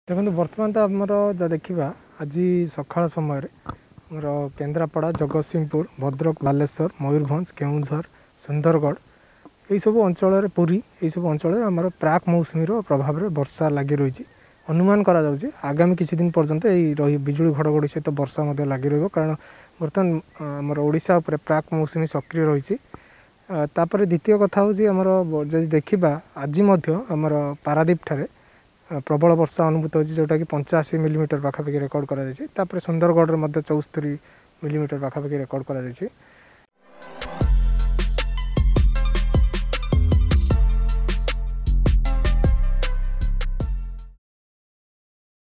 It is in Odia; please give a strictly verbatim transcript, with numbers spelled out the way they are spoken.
ଦେଖନ୍ତୁ, ବର୍ତ୍ତମାନ ତ ଆମର ଯାହା ଦେଖିବା, ଆଜି ସକାଳ ସମୟରେ ଆମର କେନ୍ଦ୍ରାପଡ଼ା, ଜଗତସିଂହପୁର, ଭଦ୍ରକ, ବାଲେଶ୍ୱର, ମୟୂରଭଞ୍ଜ, କେଉଁଝର, ସୁନ୍ଦରଗଡ଼ ଏଇସବୁ ଅଞ୍ଚଳରେ, ପୁରୀ ଏଇସବୁ ଅଞ୍ଚଳରେ ଆମର ପ୍ରାକ୍ ମୌସୁମୀର ପ୍ରଭାବରେ ବର୍ଷା ଲାଗି ରହିଛି। ଅନୁମାନ କରାଯାଉଛି ଆଗାମୀ କିଛି ଦିନ ପର୍ଯ୍ୟନ୍ତ ଏଇ ରହି ବିଜୁଳି ଘଡ଼ଘଡ଼ି ସହିତ ବର୍ଷା ମଧ୍ୟ ଲାଗି ରହିବ, କାରଣ ବର୍ତ୍ତମାନ ଆମର ଓଡ଼ିଶା ଉପରେ ପ୍ରାକ୍ ମୌସୁମୀ ସକ୍ରିୟ ରହିଛି। ତାପରେ ଦ୍ୱିତୀୟ କଥା ହେଉଛି, ଆମର ଯଦି ଦେଖିବା ଆଜି ମଧ୍ୟ ଆମର ପାରାଦ୍ୱୀପ ଠାରେ ପ୍ରବଳ ବର୍ଷା ଅନୁଭୂତ ହେଉଛି, ଯେଉଁଟାକି ପଞ୍ଚାଅଶୀ ମିଲିମିଟର ପାଖାପାଖି ରେକର୍ଡ଼ କରାଯାଇଛି। ତାପରେ ସୁନ୍ଦରଗଡ଼ରେ ମଧ୍ୟ ଚଉସ୍ତରୀ ମିଲିମିଟର ପାଖାପାଖି ରେକର୍ଡ଼ କରାଯାଇଛି।